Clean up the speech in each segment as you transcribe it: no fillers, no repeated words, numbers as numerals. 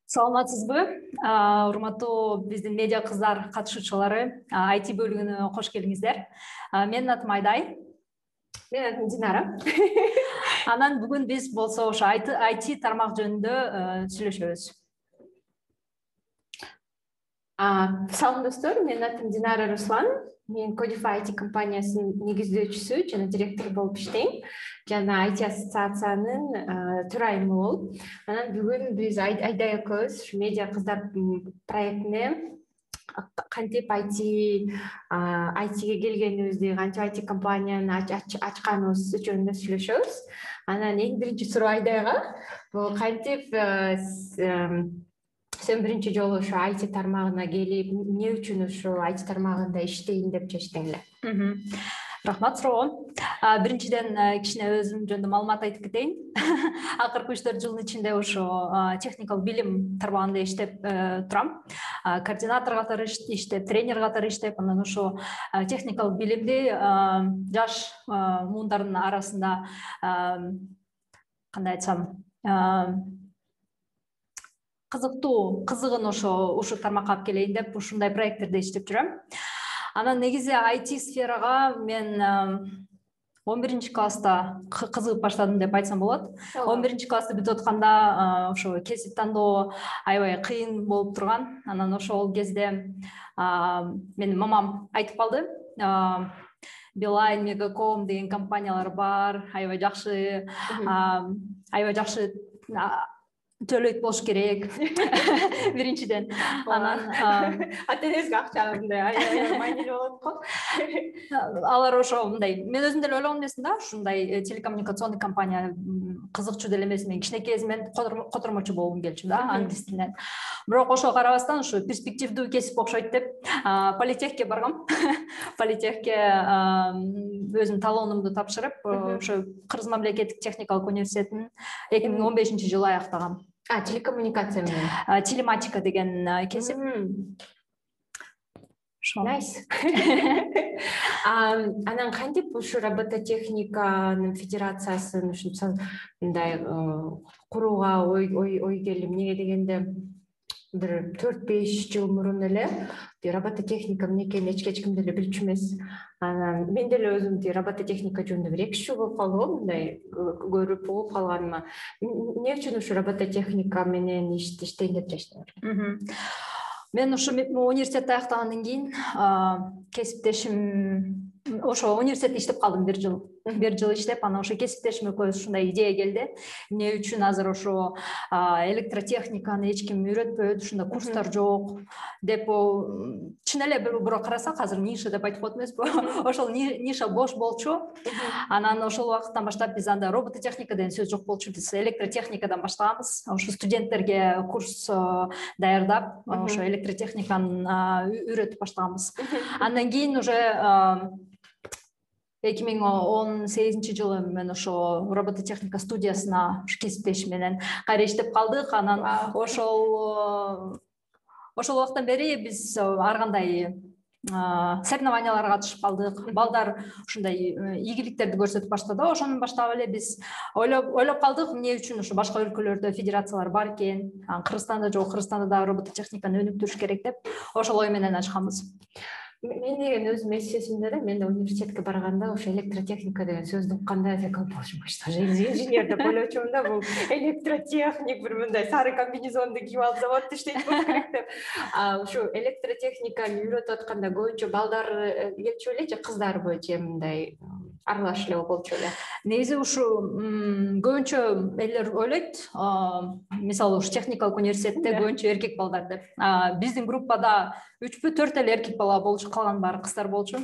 Саламатсызбы? Урматтуу биздин медиа кыздар катышуучулары, IT бөлүгүнө кош келиңиздер. Менин атым Айдай. Менин атым Динара. Анан бүгүн биз болсо ошо IT тармак жөнүндө сүйлөшөбүз. Салам достор, менин атым Динара Руслан. Мен Codify IT компаниясынын негиздөөчүсү жана директор болуп иштейм. Жана IT ассоциациянын төрайымы болуп. Анан бүгүн биз Айдай экөөбүз медиа кыздар проектине кантип ITге келгенибизди, кантип IT компанияны ачканыбыз жөнүндө сүйлөшөбүз. Анан эң биринчи суроо Айдайга, бул кантип сен биринчи жолу ошо IT тармагына келип, эмне үчүн ошо IT тармагында иштейин деп чечтиң эле? Рахмат суроого. Биринчиден кичине өзүм жөнүндө маалымат айтып кетейин. Акыркы 3-4 жылдын ичинде ошо техникалык билим тармагында иштеп турам. Координатор катары иштеп, тренер катары иштеп, анан ошо техникалык билимди жаш муундардын арасында кандай айтсам, кызыгын ушул тармакка алып келейин деп ушундай проекттерде иштеп жүрөм. Анан негизи IT сферага мен 11 класста кызыгып баштадым деп айтсам болот. 11 классты бүтүп атканда ошо кесип тандоо аябай кыйын болуп турган. Анан ошол кезде менин мамам айтып калды. Билайн, Мегаком деген компаниялар бар, аябай жакшы төлөйт болуш керек. Биринчиден. Анан ата-энеңизге акча мындай аябай маанилүү болот го. Алар ошо мындай, мен өзүм деле ойлогон эмесмин да, ушундай телекоммуникационный компания кызыкчу деле эмес. Мен кичинекей кезимден котормочу болгум келчү да, англис тилинен. Бирок ошого карабастан ушу перспективдүү кесип окшойт деп политехке баргам. Политехке өзүмдүн талоонумду тапшырып, ошо Кыргыз мамлекеттик техникалык университетин 2015-жылы аяктагам. Телекоммуникация менен. Телематика деген кесип. Nice. Анан кантип ушу робототехниканын федерациясын мындай курууга ой келди? Эмнеге дегенде бир 4-5 жыл мурун эле робототехника эмне экенин эч ким деле билчү эмес. Анан мен деле өзүм робототехника жөнүндө бир 2 жыл болуп калды, мындай көрүп угуп калганыма. Эмне үчүн ушу робототехника менен иштейин деп чечтиң? Мен ушу университетти аяктагандан кийин кесиптешим ошо университетте иштеп калдым 1 жыл. 1 жыл иштеп, анан ошо кесиптешим экөөбүз ушундай идея келди. Эмне үчүн азыр ошо электротехниканы эч ким үйрөтпөйт, ушундай курстар жок деп, чын эле бирок карасак азыр ниша деп айтып коет эмеспи? Ошол ниша бош болчу. Анан ошол убакыттан баштап биз анда робототехника деген сөз жок болчу. Биз электротехникадан баштаганбыз. Ошо студенттерге курс даярдап, ошо электротехниканы үйрөтүп баштаганбыз. Андан кийин уже 2018-жылы мен ошо робототехника студиясына кесиптешим менен кайра иштеп калдык. Анан ошол убакыттан бери биз ар кандай соревнованияларга катышып калдык. Балдар ушундай ийгиликтерди көрсөтүп баштады. Ошону баштап эле биз ойлоп калдык, эмне үчүн ошо башка өлкөлөрдө федерациялар бар экен, Кыргызстанда жок, Кыргызстанда да робототехниканы өнүктүрүш керек деп ошол ой менен ачканбыз. Мен деген өзүм эсесимде эле, мен университетке барганда ошо электротехника деген сөздү укканда боже мой, что же инженер деп ойлочумун да, бул электротехник бир мындай сары комбинезонду кийип алып заводдо иштейт болуш керек деп. Ушу электротехниканы үйрөтүп атканда көбүнчө балдар келчү беле же кыздарбы, же мындай аралаш эле болчу беле? Негизи ушу көбүнчө элер ойлойт, мисалы ушу техникалык университетте көбүнчө эркек балдар деп. Биздин группада 3-4 эле эркек бала болчу, калган баары кыздар болчу.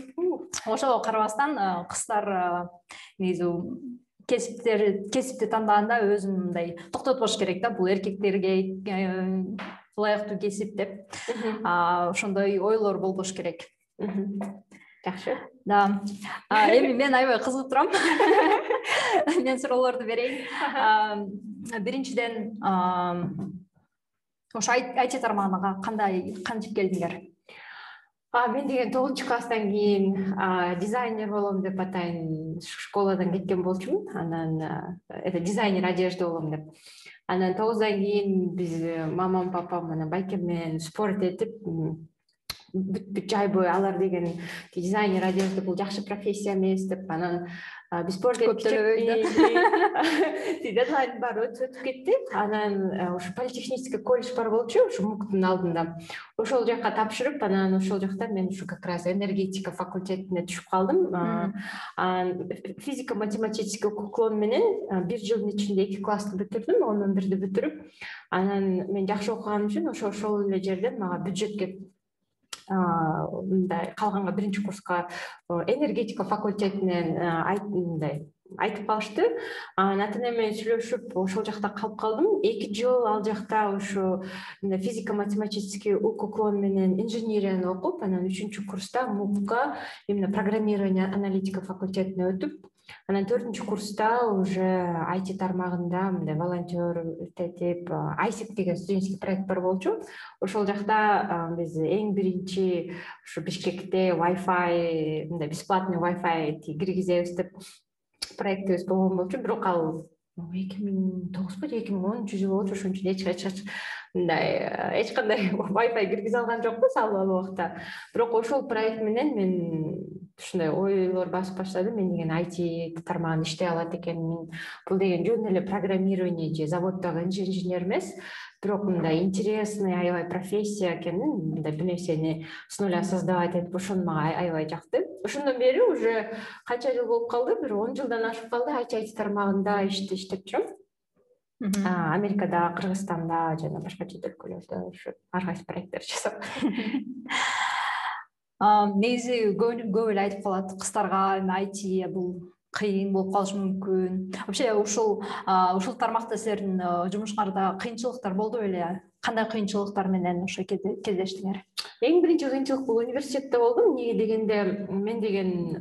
Ошого карабастан кыздар негизи кесипти тандаганда өзүн мындай токтотпош керек да, бул эркектерге ылайыктуу кесип деп. Ошондой ойлор болбош керек. Жакшы. Да. Эми мен аябай кызыгып турам. Мен суроолорду берейин. Биринчиден ошо IT тармагына кантип келдиңер? Мен деген 9 класстан кийин дизайнер болом деп атайын школадан кеткен болчумун. Анан это дизайнер одежды болом деп. Анан 9-дан кийин биз мамам, папам менен байкем менен спорт этип бүт жай бою алар деген дизайнер одежды бул жакшы профессия эмес деп анан биз спорт дедлайн бар өтүп кетти. Анан ошо политехнический колледж бар болчу, ошо МУКтун алдында. Ошол жакка тапшырып, анан ошол жакта мен ушу как раз энергетика факультетине түшүп калдым. Физико-математический уклон менен 1 жылдын ичинде 2 классты бүтүрдүм, 11-ди бүтүрүп. Анан мен жакшы окуганым үчүн ошол эле жерден мага бюджетке мындай калганга 1-курска энергетика факультетинен айтып калышты. Ата менен сүйлөшүп ошол жакта калып калдым. 2 жыл ал жакта ошо физико-математический уклон менен инженерияны окуп, анан 3-курста МУКка именно программирование аналитика факультетине өтүп, анан 4-курста уже IT тармагында мындай волонтер этип ISIC деген студенческий проект бар болчу. Ошол жакта биз эң биринчи ушу Бишкекте Wi-Fi, мындай бесплатный Wi-Fi киргизебиз деп проектибиз болгон болчу. Бирок ал 2009 же 2010 жылы болчу. Ошон үчүн эч кандай Wi-Fi киргизе алган жокпуз ал убакта. Бирок ошол проект менен мен ушундай ойлор басып баштадым. Мен деген IT тармагында иштей алат экенмин. Бул деген жөн эле программирование же заводдогу инженер эмес, бирок мындай интересный аябай профессия экенин, мындай бир нерсени с нуля создавать этип ошону мага аябай жакты. Ошондон бери уже канча жыл болуп калды? Бир 10 жылдан ашып калды IT тармагында иштеп жүрөм. Америкада, Кыргызстанда жана башка чет өлкөлөрдө ушу ар кайсы проекттер жасап. Негизи көп эле айтып калат кыздарга IT бул кыйын болуп калышы мүмкүн. Вообще ушул тармакта силердин жумушуңарда кыйынчылыктар болду беле? Кандай кыйынчылыктар менен ошо кездештиңер? Эң биринчи кыйынчылык бул университетте болду. Эмнеге дегенде, мен деген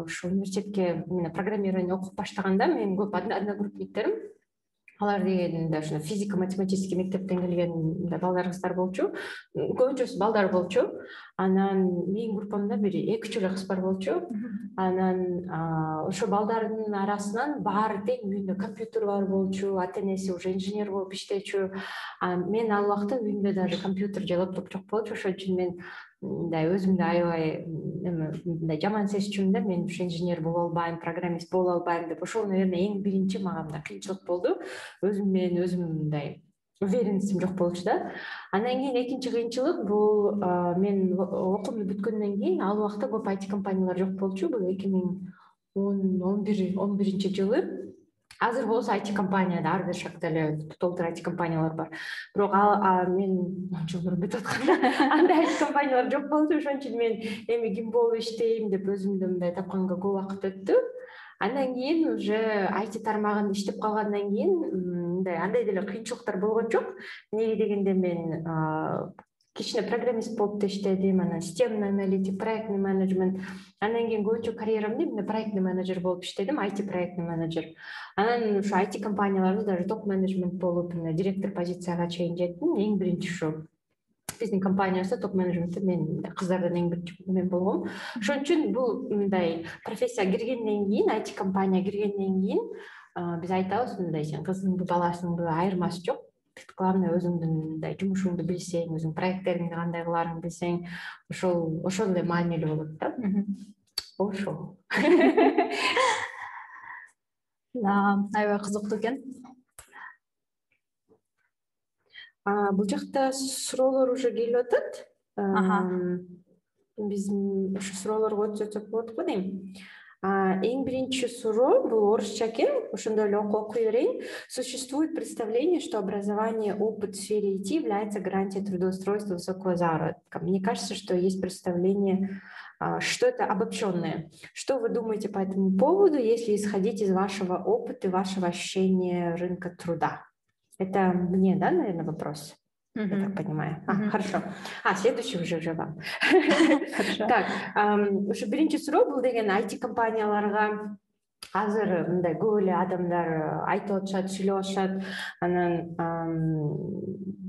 ушу университетке программирование окуп баштаганда менин көп одногруппниктерим алар дегенде ошо физико-математический мектептен келген балдар кыздар болчу. Көбүнчөсү балдар болчу. Анан менин группамда бир 2-3 эле кыз бар болчу. Анан ошо балдардын арасынан баары тең үйүндө компьютер бар болчу, ата-энеси уже инженер болуп иштечү. Мен ал убакта үйүмдө даже компьютер же лаптоп жок болчу. Ошон үчүн мен мындай өзүмдү аябай мындай жаман сезчүмүн да, мен ушу инженер боло албайм, программист боло албайм деп. Ошол, наверное, эң биринчи мага мындай кыйынчылык болду. Өзүм менен өзүм мындай уверенностьм жок болчу да. Андан кийин экинчи кыйынчылык бул мен окуумду бүткөндөн кийин ал убакта көп IT компаниялар жок болчу. Бул 2011 жылы. Азыр болсо IT компанияда ар бир шакта эле толтур IT компаниялар бар. Бирок мен 10 жыл мурун бүтүп атканда андай IT компаниялар жок болчу. Ошон үчүн мен эми ким болуп иштейм деп өзүмдү мындай тапканга көп убакыт өттү. Андан кийин уже IT тармагында иштеп калгандан кийин мындай андай деле кыйынчылыктар болгон жок. Эмнеге дегенде мен кичине программист болуп да иштедим, анан системный аналитик, проектный менеджмент. Андан кийин көбүнчө карьерамда эмне проектный менеджер болуп иштедим, IT проектный менеджер. Анан ушу IT компанияларда даже топ менеджмент болуп, директор позицияга чейин жеттим. Эң биринчи ушу биздин компанияда топ менеджментте мен кыздардан эң биринчи мен болгом. Ошон үчүн бул мындай профессия киргенден кийин, IT компания киргенден кийин биз айтабыз мындай, сен кызыңды, баласыңды айырмасы жок. Главное өзүңдүн мындай жумушуңду билсең, өзүң проекттериңди кандай кыларыңды билсең, ошол эле маанилүү болот да. Ошол. Аябай кызыктуу экен. Бул жакта суроолор уже келип атат. Биз ушу суроолорго өтсөк болот го дейм. Эң биринчи суроо бул орусча экен, ошондой эле окуй берейин. Существует представление, что образование, опыт в сфере IT является гарантией трудоустройства высокого заработка. Мне кажется, что есть представление, что это обобщенное. Что вы думаете по этому поводу, если исходить из вашего опыта и вашего ощущения рынка труда? Это мне, да, наверное, вопрос? Я так понимаю. Хорошо. Следующий уже вам. Так, ушу биринчи суроо бул деген IT компанияларга азыр мындай көп эле адамдар айтып атышат, сүйлөп атышат. Анан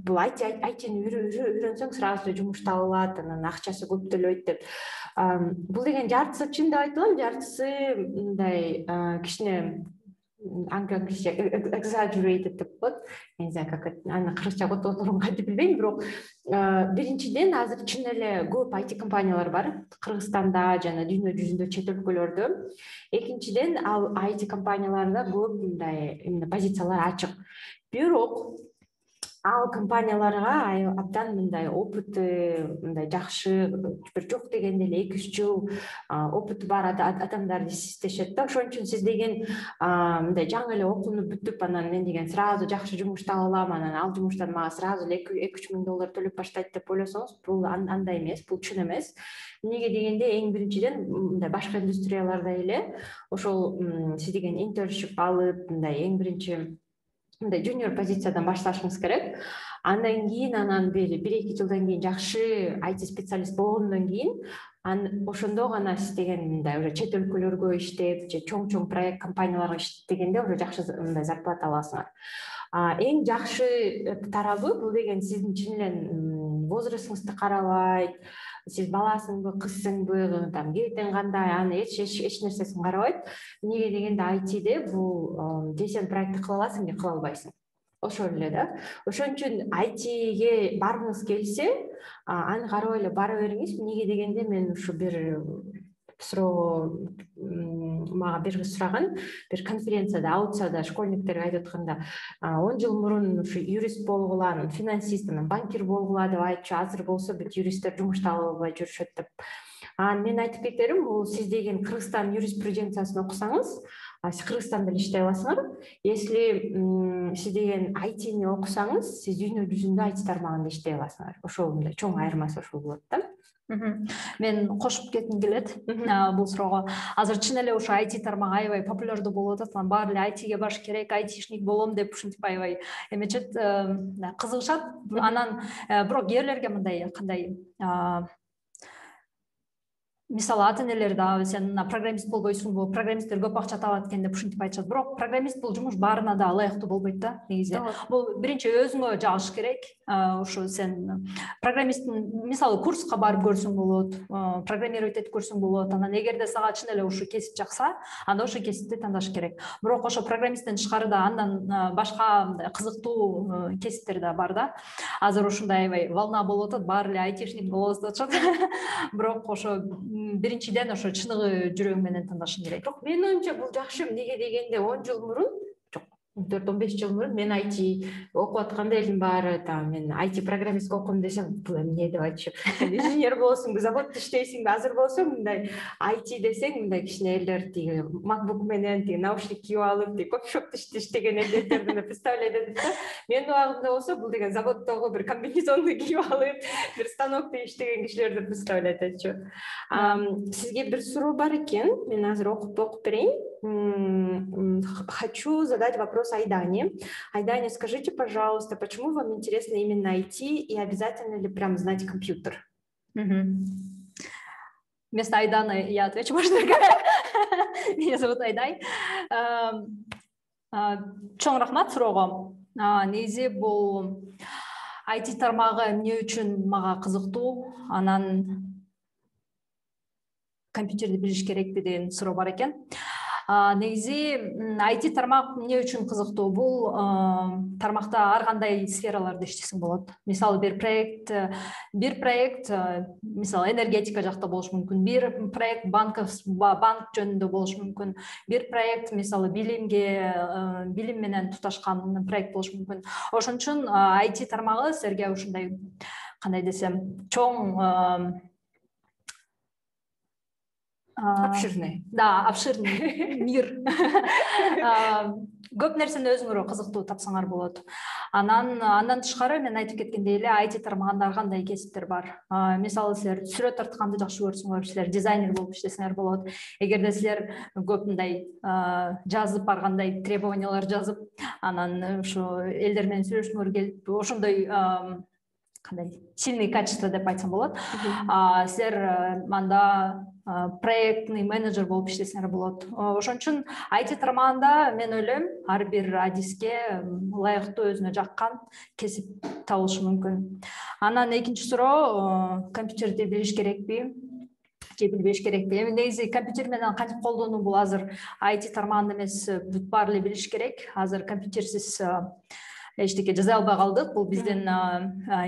бул айтини үйрөнсөң сразу жумуш табылат, анан акчасы көп төлөйт деп. Бул деген жартысы чын деп айта алам, жартысы мындай кичине англисче exaggerated деп коет. Не знаю, как аны кыргызча которун кантип билбейм, бирок биринчиден азыр чын эле көп IT компаниялар бар Кыргызстанда жана дүйнө жүзүндө, чет өлкөлөрдө. Экинчиден ал IT компанияларда көп мындай позициялар ачык. Бирок ал компанияларга абдан мындай опыты мындай жакшы, бир жок дегенде эле 2-3 жыл опыты бар адамдарды издешет да. Ошон үчүн сиз деген мындай жаңы эле окууну бүтүп, анан мен деген сразу жакшы жумуш таба алам, анан ал жумуштан мага сразу эле $2-3 миң төлөп баштайт деп ойлосоңуз, бул андай эмес, бул чын эмес. Эмнеге дегенде, эң биринчиден мындай башка индустрияларда эле ошол сиз деген интерншип алып, мындай эң биринчи мындай жуниор позициядан башташыңыз керек. Андан кийин, анан 1-2 жылдан кийин жакшы IT специалист болгондон кийин, ошондо гана сиз деген мындай уже чет өлкөлөргө иштеп, же чоң проект компанияларга иштегенде уже жакшы мындай зарплата аласыңар. Эң жакшы тарабы бул деген сиздин чын эле возрастыңызды карабайт, сиз баласыңбы, кызсыңбы, там кебетең кандай, аны эч нерсесин карабайт. Эмнеге дегенде айтиде бул же сен проектти кыла аласың, же кыла албайсың. Ошол эле да. Ошон үчүн айтиге баргыңыз келсе, аны карабай эле бара бериңиз. Эмнеге дегенде мен ушу бир суроого мага бир кыз сураган, бир конференцияда аутсада школьниктерге айтып атканда, 10 жыл мурун ушу юрист болгула, анан финансист, анан банкир болгула деп айтчу, азыр болсо бүт юристтер жумуш таба албай жүрүшөт деп. Мен айтып кетерим, бул сиз деген Кыргызстан юриспруденциясын окусаңыз, сиз Кыргызстанда иштей аласыңар. Если сиз деген айтини окусаңыз, сиз дүйнө жүзүндө IT тармагында иштей аласыңар. Ошол мындай чоң айырмасы ошол болот да. Мен кошуп кетким келет бул суроого. Азыр чын эле ушу IT тармагы аябай популярдуу болуп атат. Баары эле IT-ге баш керек, айтишник болом деп ушинтип аябай эмечет, кызыгышат. Анан бирок кээрлерге мындай кандай мисалы ата энелер да сен программист болбойсуңбу, программисттер көп акча табат экен деп ушинтип айтышат. Бирок программист бул жумуш баарына да ылайыктуу болбойт да негизи. Бул биринчи өзүңө жагыш керек. Ушу сен программисттин мисалы курска барып көрсөң болот, программировать этип көрсөң болот. Анан эгерде сага чын эле ушу кесип жакса, анда ошол кесипти тандаш керек. Бирок ошо программисттен тышкары да андан башка кызыктуу кесиптер да бар да. Азыр ушундай аябай волна болуп атат, баары эле айтишник болобуз деп атышат. Бирок ошо биринчиден ошо чыныгы жүрөгүң менен тандашың керек. Бирок менин оюмча бул жакшы. Эмнеге дегенде 10 жыл мурун, жок, 14-15 жыл мурун мен IT окуп атканда элдин баары мен IT программист окуйм десем, бул эмне деп айтышып, инженер болосуңбу, заводдо иштейсиңби? Азыр болсо мындай IT десең, мындай кичине элдер тиги MacBook менен тиги наушник кийип алып, тиги кофешопто иштеген элдерди представлять этет да. Менин убагымда болсо бул деген заводдогу бир комбинезонду кийип алып, бир станокто иштеген кишилерди представлять этчү. Сизге бир суроо бар экен, мен азыр окуп берейин. Хочу задать вопрос Айдане. Айдане, скажите, пожалуйста, почему вам интересно именно IT и обязательно ли прям знать компьютер? Вместо Айданы я отвечу, может, меня зовут Айдай. Чоң рахмат суроого. Негизи бул IT тармагы эмне үчүн мага кызыктуу, анан компьютерди билиш керекпи деген суроо бар экен. Негизи IT тармак эмне үчүн кызыктуу? Бул тармакта ар кандай сфераларда иштесең болот. Мисалы бир проект, мисалы энергетика жакта болушу мүмкүн. Бир проект банк жөнүндө болушу мүмкүн. Бир проект мисалы билим менен туташкан проект болушу мүмкүн. Ошон үчүн IT тармагы силерге ушундай, кандай десем, чоң обширный. Да, обширный мир. Көп нерсени өзүңөр кызыктуу тапсаңар болот. Андан тышкары мен айтып кеткендей эле IT тармагында ар кандай кесиптер бар. Мисалы силер сүрөт тартканды жакшы көрсөңөр, силер дизайнер болуп иштесеңер болот. Эгерде силер көп мындай жазып ар кандай требованиялар жазып, анан ушу элдер менен сүйлөшкүңөр келип, ошондой кандай сильный качество деп айтсам болот. Силер мында проектный менеджер болуп иштесеңер болот. Ошон үчүн IT тармагында мен ойлойм ар бир адиске ылайыктуу өзүнө жаккан кесип табылышы мүмкүн. Анан экинчи суроо, компьютерди билиш керекпи же билбеш керекпи? Эми негизи компьютер менен кантип колдонуу бул азыр IT тармагында эмес, бүт баары эле билиш керек. Азыр компьютерсиз эчтеке жаза албай калдык. Бул биздин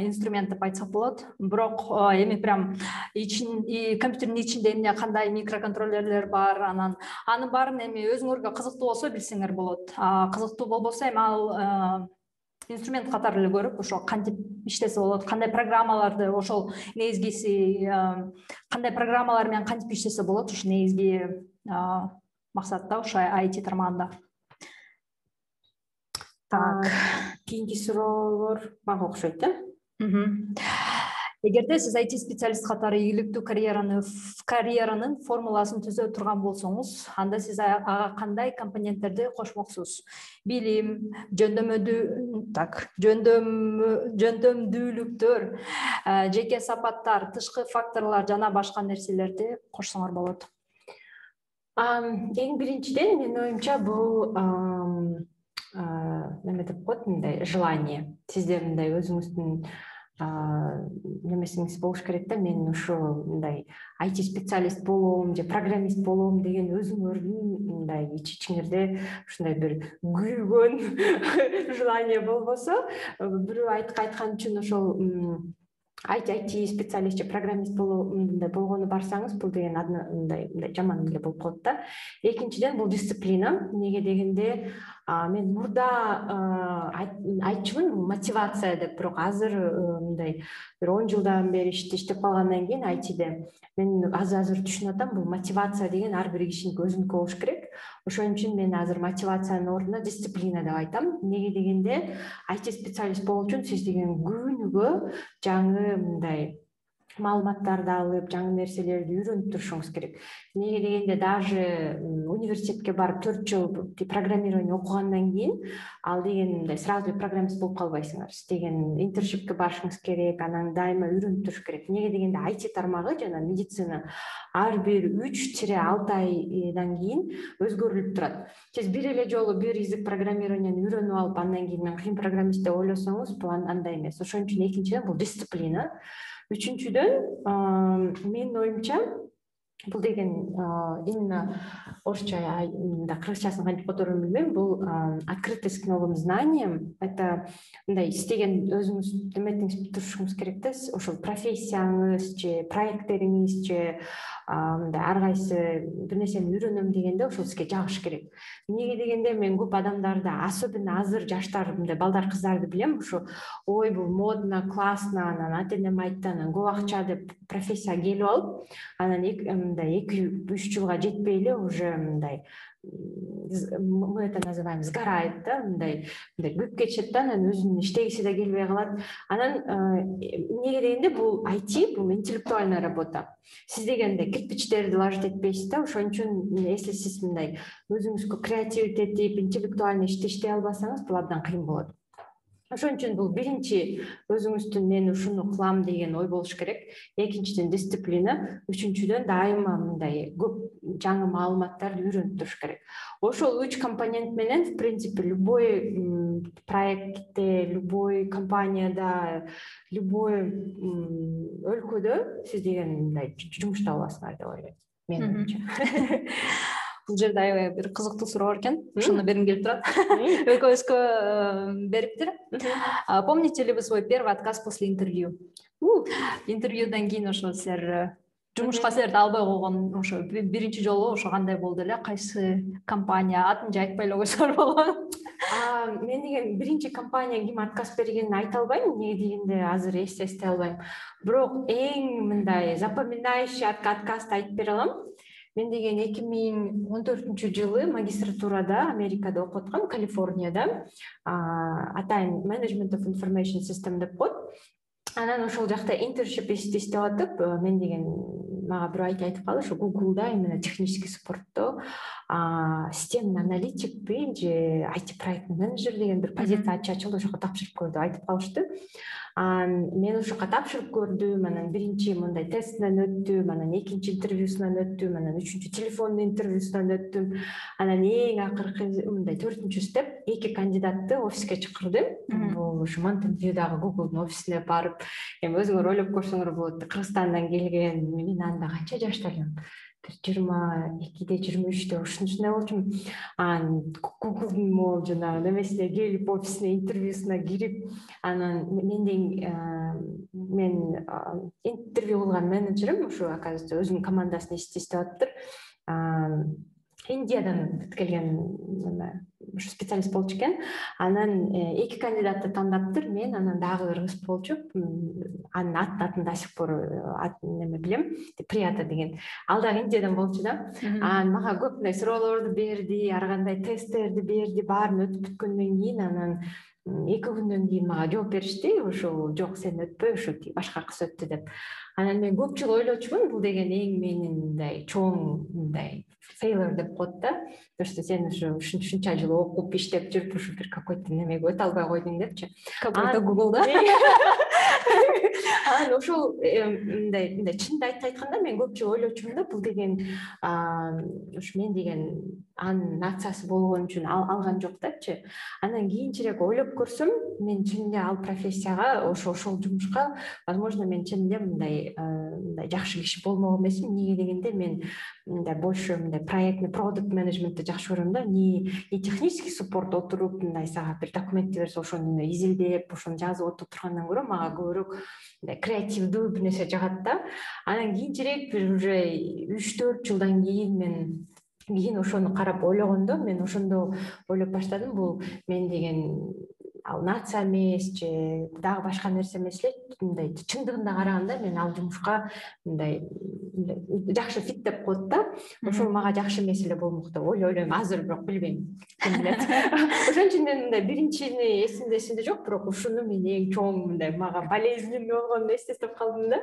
инструмент деп айтсак болот. Бирок эми прям компьютердин ичинде эмне кандай микроконтроллерлер бар, анын баарын эми өзүңөргө кызыктуу болсо билсеңер болот. Кызыктуу болбосо эми ал инструмент катары эле көрүп, ошо кантип иштесе болот, кандай программаларды, ошол негизгиси кандай программалар менен кантип иштесе болот, ошо негизги максат да ошо IT тармагында. Так, кийинки суроолор мага окшойт, Эгерде сиз IT специалист катары ийгиликтүү карьеранын формуласын түзө турган болсоңуз, анда сиз ага кандай компоненттерди кошмоксуз? Билим, жөндөмдүүлүктөр, жеке сапаттар, тышкы факторлор жана башка нерселерди кошсоңор болот. Эң биринчиден менин оюмча бул неме деп коет, мындай желание. Сизде мындай өзүңүздүн немесиңиз болуш керек да. Мен ушу мындай IT специалист болом же программист болом деген өзүңөрдүн мындай ичиңизде ушундай бир күйгөн желание болбосо, бирөө айткан үчүн ошол IT специалист же программист болгону барсаңыз, бул деген мындай жаман эле болуп калат да. Экинчиден, бул дисциплина. Эмнеге дегенде, мен мурда айтчумун, мотивация деп, бирок азыр мындай бир 10 жылдан бери иштеп калгандан кийин ITде мен азыр түшүнүп атам, бул мотивация деген ар бир кишиники өзүнүкү болуш керек. Ошон үчүн мен азыр мотивациянын ордуна дисциплина деп айтам. Эмнеге дегенде, IT специалист болуу үчүн сиз деген күнүгө жаңы мындай маалыматтарды алып, жаңы нерселерди үйрөнүп турушуңуз керек. Эмнеге дегенде, даже университетке барып 4 жыл программирование окугандан кийин, ал деген мындай сразу программист болуп калбайсыңар. Сиз деген интерншипке барышыңыз керек, анан дайыма үйрөнүп туруш керек. Эмнеге дегенде, IT тармагы жана медицина ар бир 3-6 айдан кийин өзгөрүлүп турат. Сиз бир эле жолу бир язык программированияны үйрөнүп алып, андан кийин мен кыйын программист деп ойлосоңуз, бул андай эмес. Ошон үчүн экинчиден бул дисциплина. Үчүнчүдөн, менин оюмча, бул деген именно орусча, кыргызчасын кантип которууну билбейм, бул открытость к новым знаниям. Это мындай истеген өзүңүз эметиңиз турушуңуз керек да, ошол профессияңыз же проекттериңиз же мындай ар кайсы бир нерсени үйрөнөм дегенде ошол сизге жагыш керек. Эмнеге дегенде, мен көп адамдарды, особенно азыр жаштар, мындай балдар, кыздарды билем, ушу ой бул модно, классно, анан ата энем айтты, анан көп акча деп профессия келип алып, анан 2-3 жылга жетпей эле уже мындай мы это называем сгорает да, мындай күйүп кетишет да, анан өзүнүн иштегиси да келбей калат. Анан эмнеге дегенде, бул IT, бул интеллектуальная работа. Сиз дегенде кирпичтерди ложить этпейсиз да. Ошон үчүн если сиз мындай өзүңүзгө креативдет этип, интеллектуальный иштей албасаңыз, бул абдан кыйын болот. Ошон үчүн бул биринчи өзүңүздүн мен ушуну кылам деген ой болуш керек. Экинчиден дисциплина, үчүнчүдөн дайыма мындай көп жаңы маалыматтарды үйрөнүп туруш керек. Ошол 3 компонент менен, в принципе, любой проектте, любой компанияда, любой өлкөдө сиз деген мындай жумуш таба аласыңар деп ойлойм. Менимче. Бул жерде аябай бир кызыктуу суроо бар экен. Ошону бергим келип турат. Экөөбүзгө бериптир. Помните ли вы свой первый отказ после интервью? Интервьюдан кийин ошо силер жумушка силерди албай койгон, ошо биринчи жолу ошо кандай болду эле? Кайсы компания? Атын же айтпай эле койсоңор болот. Мен деген биринчи компания ким отказ бергенин айта албайм, эмнеге дегенде азыр эстей албайм. Бирок эң мындай запоминающий отказды айтып бере алам. Мен деген 2014-жылы магистратурада Америкада окуп аткам, Калифорнияда. Атайын Management of Information System деп коет. Анан ошол жакта интерншип иштеп атып, мен деген мага бирөө айтып калды, ошо Google'да именно технический саппортто системный аналитикпи же IT проект менеджер деген бир позиция ачылды, ошого тапшырып көр деп айтып калышты. Мен ошоко тапшырып көрдүм, анан биринчи мындай тестинен өттүм, анан экинчи интервьюсунан өттүм, анан үчүнчү телефондуу интервьюсунан өттүм. Анан эң акыркы мындай 4-чү степ 2 кандидатты офиске чакырдым. Бул ушу Mountain View'дагы Google'дун офисине барып, эми өзүңөр ойлоп көрсөңөр болот, Кыргызстандан келген, мен анда канча жашта элем? 22-де, 23-те ушундай болчумун. Google мол жанагы немесине келип, офисине интервьюсуна кирип, анан мен интервью кылган менеджерим ушу, оказывается, өзүнүн командасын иштеп атыптыр. Индиядан келген ушу специалист болчу экен. Анан 2 кандидатты тандаптыр. Мен анан дагы кыргыз болчу. Анын атын до сих пор неме билем. Прията деген. Ал дагы Индиядан болчу да. Мага көп мындай суроолорду берди, ар кандай тесттерди берди, баарын өтүп бүткөндөн кийин анан 2 күндөн кийин мага жооп беришти. Ошо жок, сен өтпөй, ошо башка кыз өттү деп. Анан мен көп жыл ойлочумун, бул деген эң менин мындай чоң мындай failure деп коет да. То что сен ушунча жыл окуп, иштеп жүрүп, ушу бир какой-то немеге өтө албай койдуң депчи. Какой-то Google'да. Анан ошол мындай чынды айтканда мен көп жыл ойлочумун да, бул деген ушу мен деген анын нациясы болгон үчүн алган жок депчи. Анан кийинчерээк ойлоп көрсөм, мен чынында ал профессияга, ошол жумушка, возможно, мен чынында мындай жакшы киши болмок эмесмин. Эмнеге дегенде, мен мындай больше мындай проектный продукт менеджментти жакшы көрөм да. Не технический support отуруп, мындай сага бир документти берсе, ошону изилдеп, ошону жазып отургандан көрө, мага көбүрөөк мындай креативдүү бир нерсе жагат да. Анан кийинчерээк бир уже 3-4 жылдан кийин ошону карап ойлогондо, мен ошондо ойлоп баштадым, бул мен деген ал нация эмес же дагы башка нерсе эмес эле. Мындай чындыгында караганда мен ал жумушка мындай жакшы фит деп коет да. Ошол мага жакшы эмес эле болмок деп ойлойм. Азыр бирок билбейм. Ким билет. Ошон үчүн мен мындай биринчини эсимде жок, бирок ушуну мен эң чоң мындай мага болезненный болгон эстеп калдым да.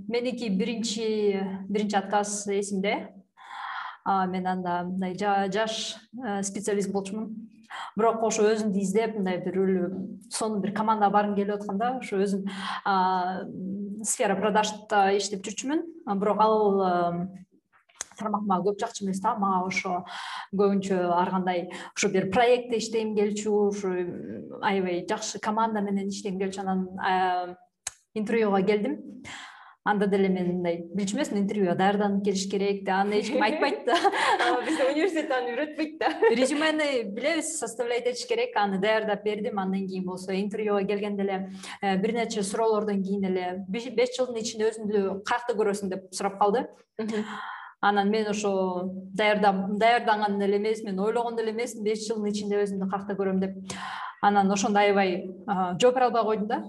Меники биринчи отказ эсимде. Мен анда мындай жаш специалист болчумун. Бирок ошо өзүмдү издеп, мындай бир сонун бир командага баргым келип атканда, ошо өзүм сфера продажда иштеп жүрчүмүн. Бирок ал тармак мага көп жакчу эмес да. Мага ошо көбүнчө ар кандай ошо бир проектте иштегим келчү, ошо аябай жакшы команда менен иштегим келчү. Анан интервьюга келдим. Анда деле мен мындай билчү эмесмин, интервьюга даярданып келиш керек да, аны эч ким айтпайт да. Бизде университет аны үйрөтпөйт да. Резюмени билебиз, составлять этиш керек, аны даярдап бердим. Андан кийин болсо интервьюга келгенде эле бир нече суроолордон кийин эле 5 жылдын ичинде өзүңдү каякта көрөсүң деп сурап калды. Анан мен ошо даярданган эле эмесмин, ойлогон эле эмесмин 5 жылдын ичинде өзүмдү каякта көрөм деп. Анан ошондо аябай жооп бере албай койдум да.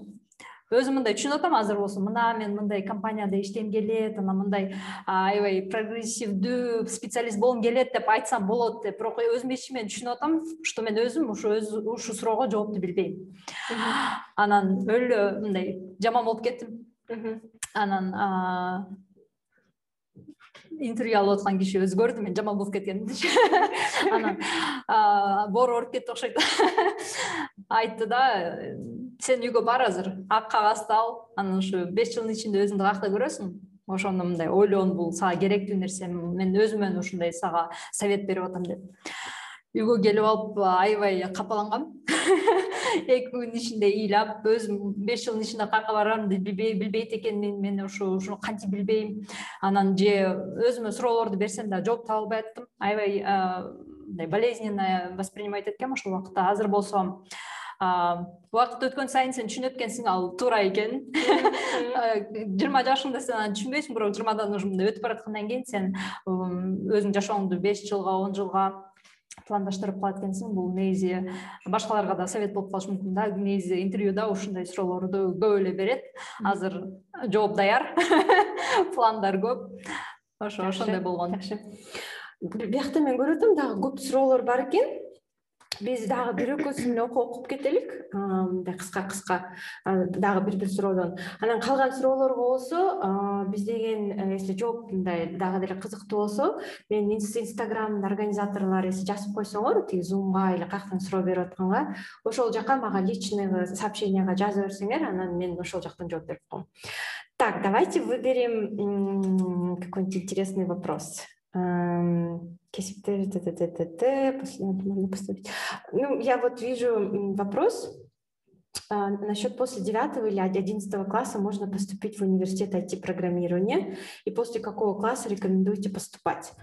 Өзүм мындай түшүнүп атам, азыр болсо мына мен мындай компанияда иштегим келет, анан мындай аябай прогрессивдүү специалист болгум келет деп айтсам болот деп, бирок өзүм ичимен түшүнүп атам, что мен өзүм ушу суроого жоопту билбейм. Анан өлө мындай жаман болуп кеттим. Анан интервью алып аткан киши өзгөрдү, мен жаман болуп кеткенди. Анан боору ооруп кетти окшойт. Айтты да, сен үйгө бар азыр, ак кагазды ал, анан ушу 5 жылдын ичинде өзүңдү каякта көрөсүң. Ошондо мындай ойлон, бул сага керектүү нерсе, мен өзүмөн ушундай сага совет берип атам деп. Үйгө келип алып аябай капалангам. 2 күн ичинде ыйлап, өзүм 5 жылдын ичинде каяка барарымды билбейт экенмин, мен ушуну кантип билбейм. Анан же өзүмө суроолорду берсем да жооп таба албай аттым. Аябай мындай болезненно воспринимать эткем ошол убакта. Азыр болсо убакыт өткөн сайын сен түшүнөт экенсиң, ал туура экен. 20 жашыңда сен аны түшүнбөйсүң, бирок 20дан уже мындай өтүп бараткандан кийин сен өзүң жашооңду 5 жылга, 10 жылга пландаштырып калат экенсиң. Бул негизи башкаларга да совет болуп калышы мүмкүн да. Негизи интервьюда ушундай суроолорду көп эле берет. Азыр жооп даяр, пландар көп. Ошондой болгон. Биякта мен көрүп атам, дагы көп суроолор бар экен. биз дагы бир экөөсүн окуп кетелик. Мындай кыска дагы бир суроодон. Анан калган суроолорго болсо, биз деген если жооп мындай дагы деле кызыктуу болсо, мен Инстаграмдын организаторлору если жазып койсоңор, тиги Zoom'га или каяктан суроо берип атканга, ошол жака мага личный сообщенияга жаза берсеңер, анан мен ошол жактан жооп берип коем. Так, давайте выберем какой-нибудь интересный вопрос. Можно поставить. Ну, я вот вижу вопрос насчет после 9 или 11 класса можно поступить в университет IT-программирования, и после какого класса рекомендуете поступать?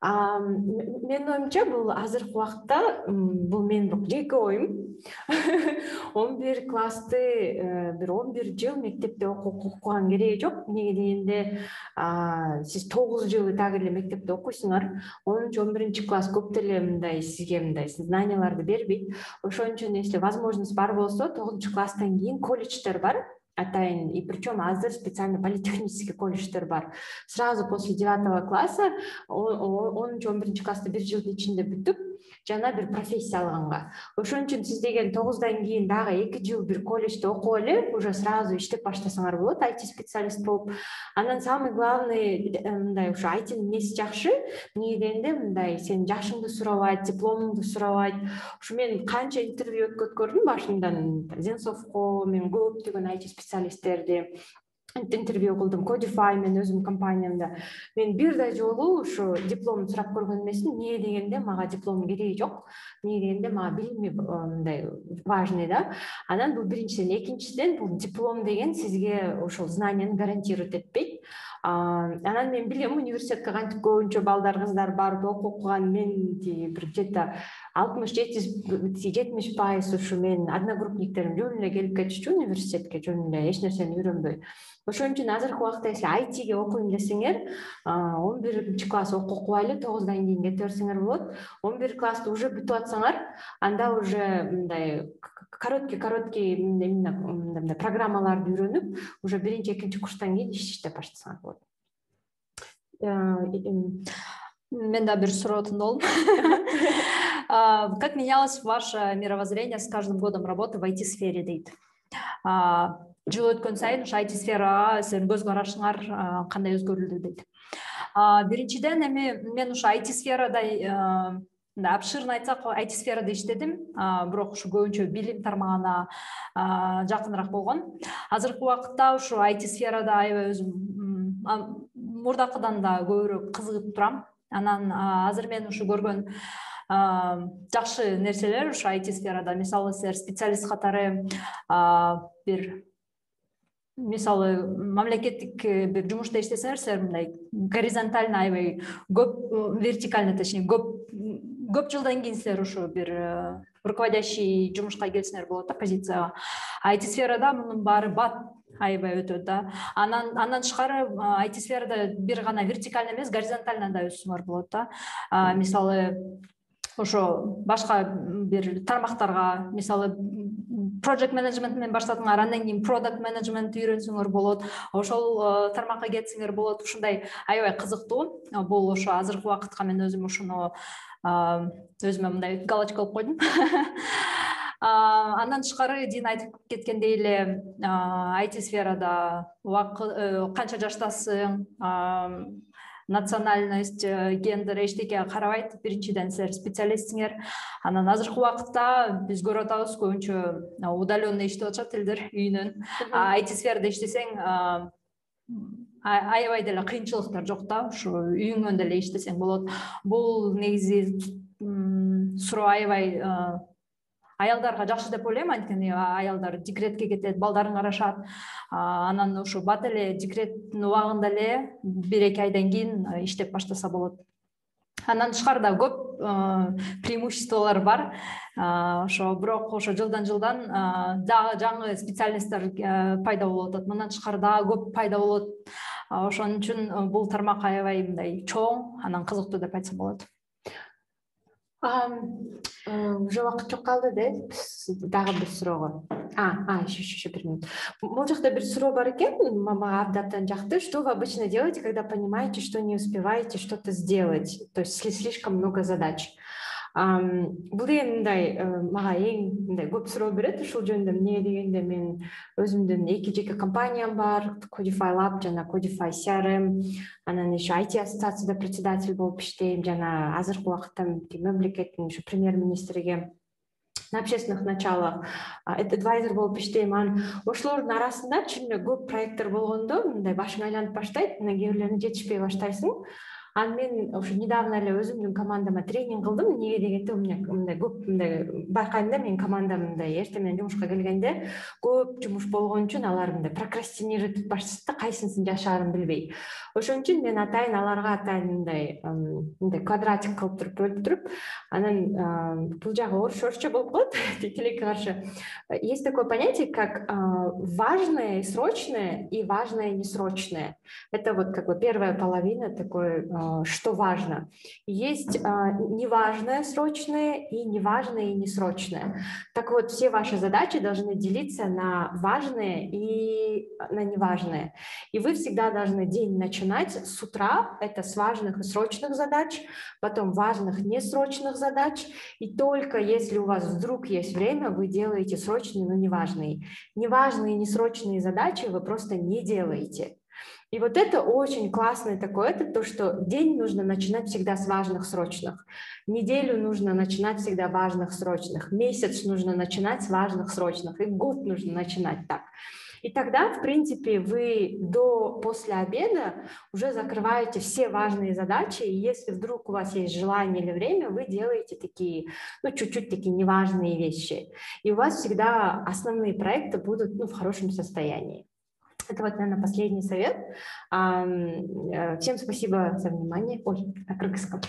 Менин оюмча бул азыркы убакта бул менин жеке оюм. 11 классты бир 11 жыл мектепте окуган кереги жок. Эмнеге дегенде сиз 9 жыл так эле мектепте окуйсуңар, 10-11 класс көп деле мындай сизге мындай знанияларды бербейт. Ошон үчүн если возможность бар болсо 9 класстан кийин колледждер бар. Атайын, и причем азыр специально политехнический колледждер бар. Сразу после 9 класса, 10-11 класста бир жылдын ичинде бүтүп, жана бир профессия алганга. Ошон үчүн сиз деген 9-дан кийин дагы 2 жыл бир колледжде окуп эле, уже сразу иштеп баштасаңар болот, IT специалист болуп. Анан самый главный мындай ушу IT-нин эмеси жакшы, эмне дегенде мындай сен жашыңды сурабайт, дипломуңду сурабайт. Ушу мен канча интервью өткөрдүм башындан, Зенсовко, мен көптөгөн IT специалисттерди интервью кылдым, Codify мен өзүм компаниямда. Мен бир да жолу ушу диплом сурап көргөн эмесмин. Эмне дегенде мага диплом кереги жок. Эмне дегенде мага билими мындай важный да. Анан бул биринчиден, экинчиден бул диплом деген сизге ошол знанияны гарантирует этпейт. Анан мен билем университетке кантип көбүнчө балдар, кыздар барып окуган, мен бир где-то 60-70% ушу мен одногруппниктерим жөн эле келип кетишчү университетке, жөн эле эч нерсени үйрөнбөй. Ошон үчүн азыркы убакта если IT-ге окуйм десеңер, 11 класс окубай 9-дан кийин кете берсеңер болот. 11 классты уже бүтүп атсаңар, анда уже мындай короткий именно программаларды үйрөнүп, уже биринчи, экинчи курстан кийин иштеп баштасаңар болот. Мен да бир сурооотун болдум. Как менялось ваше мировоззрение с каждым годом работы в IT-сфере, дейт? Жыл өткөн сайын ушу IT-сферага сиздердин көз карашыңар кандай өзгөрүлдү, дейт. Биринчиден мен ушу IT-сферада обширно айтсак, IT-сферада иштедим, бирок ушу көбүнчө билим тармагына жакыныраак болгон. Азыркы убакытта ушу IT-сферада аябай өзүм мурдакыдан да көбүрөөк кызыгып турам. Анан азыр мен ушу көргөн жакшы нерселер ушу IT-сферада, мисалы силер специалист катары бир мисалы мамлекеттик бир жумушта иштесеңер, силер мындай горизонтально аябай көп, вертикально точнее көп жылдан кийин силер ушу бир руководящий жумушка келсеңер болот да, позицияга. IT-сферада мунун баары бат аябай өтөт да. Андан тышкары IT-сферада бир гана вертикально эмес, горизонтально да өссөңөр болот да. Мисалы ошо башка бир тармактарга, мисалы project management менен баштадыңар, андан кийин product management үйрөнсөңөр болот. Ошол тармакка кетсеңер болот. Ушундай аябай кызыктуу. Бул ошо азыркы убакытка мен өзүм ушуну өзүмө мындай галочка алып койдум. Андан тышкары Дин айтып кеткендей эле IT-сферада канча жаштасың, национальность, гендер эчтеке карабайт. Биринчиден силер специалистсиңер. Анан азыркы убакытта биз көрүп атабыз көбүнчө удаленно иштеп атышат элдер үйүнөн. IT-сферада иштесең аябай деле кыйынчылыктар жок да, ушу үйүңөн деле иштесең болот. Бул негизи суроо аябай аялдарга жакшы деп ойлойм, анткени аялдар декретке кетет, балдарын карашат. Анан ушу бат эле декреттин убагында эле 1-2 айдан кийин иштеп баштаса болот. Андан тышкары да көп преимуществолор бар. Ошо бирок ошо жылдан дагы жаңы специалисттер пайда болуп атат. Мындан тышкары дагы көп пайда болот. Ошон үчүн бул тармак аябай мындай чоң, анан кызыктуу деп айтсам болот. Уже убакыт жок калды да, дагы бир суроого. Еще 1 минут. Бул жакта бир суроо бар экен, мага абдан жакты. Что вы обычно делаете, когда понимаете, что не успеваете что-то сделать? То есть слишком много задач. Бул деген мындай мага эң мындай көп суроо берет ушул жөнүндө. Эмне дегенде мен өзүмдүн 2 жеке компаниям бар, Codify Lab жана Codify CRM, анан еще IT ассоциацияда председатель болуп иштейм, жана азыркы убакытта мамлекеттин ушу премьер-министриге на общественных началах адвайзер болуп иштейм. Анан ошолордун арасында чын эле көп проекттер болгондо мындай башың айланып баштайт, мына кээ бирлерине жетишпей баштайсың. Анан мен ошо недавно эле өзүмдүн командама тренинг кылдым. Эмнеге дегенде, у меня мындай көп мындай байкайм да, менин командам мындай эртең менен жумушка келгенде көп жумуш болгон үчүн алар мындай прокрастинировать этип башташат да, кайсысын жашаарын билбей. Ошон үчүн мен атайын аларга мындай квадратик кылып туруп бөлүп туруп, анан бул жагы орусча болуп калат, тилекке каршы. Есть такое понятие, как важное и срочное, и важное и несрочное. Это вот как бы первая половина такой, что важно. Есть неважное срочное и неважное и несрочное. Так вот, все ваши задачи должны делиться на важные и на неважные. И вы всегда должны день начинать с утра, это с важных и срочных задач, потом важных несрочных задач, и только если у вас вдруг есть время, вы делаете срочные, но неважные. Неважные и несрочные задачи вы просто не делаете. И вот это очень классный такой, это то, что день нужно начинать всегда с важных, срочных. Неделю нужно начинать всегда важных, срочных. Месяц нужно начинать с важных, срочных. И год нужно начинать так. И тогда, в принципе, вы после обеда уже закрываете все важные задачи. И если вдруг у вас есть желание или время, вы делаете такие, чуть-чуть такие неважные вещи. И у вас всегда основные проекты будут, в хорошем состоянии. Это вот, наверное, последний совет. Всем спасибо за внимание. Ой, на кыргызском.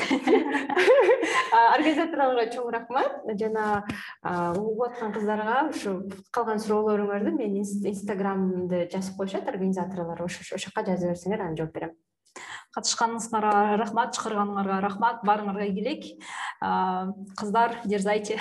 Организаторларга чоң рахмат. Жана угуп аткан кыздарга ушу калган суроолоруңарды менин инстаграмымды жазып коюшат организаторлор. Ошо жака жаза берсеңер, анан жооп берем. Катышканыңызга рахмат, чакырганыңарга рахмат. Баарыңарга ийгилик. Кыздар, дерзайте.